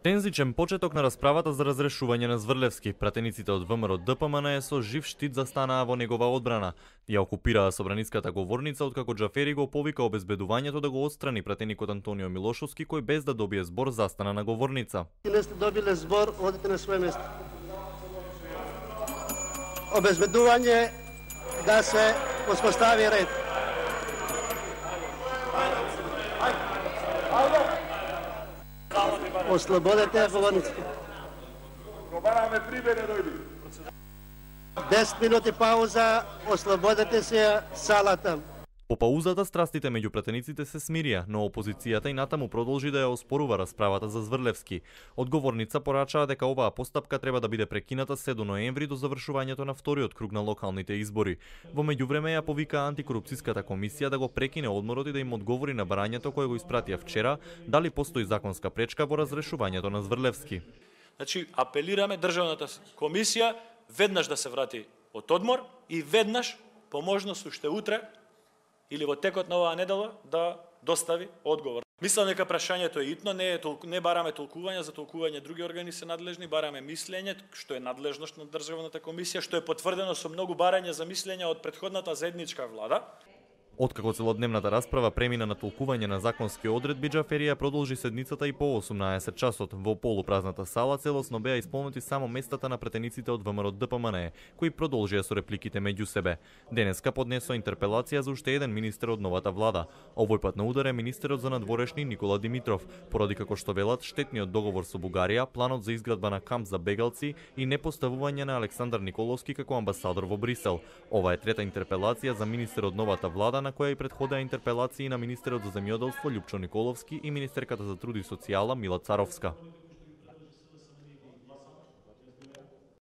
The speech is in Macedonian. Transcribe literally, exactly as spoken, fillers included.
Тензичен почеток на расправата за разрешување на Зврлевски. Пратениците од ВМРО Д П М Н Е со жив штит застанаа во негова одбрана. Ја окупираа собраниската говорница откако Џафери го повика обезбедувањето да го отстрани пратеникот Антонио Милошовски, кој без да добие збор застана на говорница. Не сте добиле збор, одите на своје место. Обезбедување да се успостави ред. Ослободете говорниците. десет минути пауза, ослободете се салата. По паузата страстите меѓу пратениците се смирија, но опозицијата и натаму продолжи да ја оспорува расправата за Зврлевски. Одговорница порачаа дека оваа постапка треба да биде прекината се до ноември до завршувањето на вториот круг на локалните избори. Во меѓувреме ја повика антикорупцијската комисија да го прекине одморот и да им одговори на барањето кое го испратија вчера, дали постои законска пречка во разрешувањето на Зврлевски. Значи, апелираме државната комисија веднаш да се врати од одмор и веднаш, по можност уште утре или во текот на оваа недела да достави одговор. Мислам дека прашањето е итно, не, е толку, не бараме толкување, за толкување други органи се надлежни, бараме мислење, што е надлежност на државната комисија, што е потврдено со многу барања за мислење од претходната заедничка влада. Откако целодневната расправа премина на толкување на законски одредби, Џаферија продолжи седницата и по осумнаесет часот. Во полупразната сала целосно беа исполнети само местата на претениците од ВМРО Д П М Н Е, кои продолжија со репликите меѓу себе. Денеска поднесоа интерпелација за уште еден министер од новата влада. Овој пат на удар е министерот за надворешни Никола Димитров, поради како што велат штетниот договор со Бугарија, планот за изградба на камп за бегалци и непоставување на Александар Николовски како амбасадор во Брисел. Ова е трета интерпелација за министер од новата влада, на која и претходеа интерпелации на министерот за земјоделство Љупчо Николовски и министерката за труд и социјала Мила Царовска.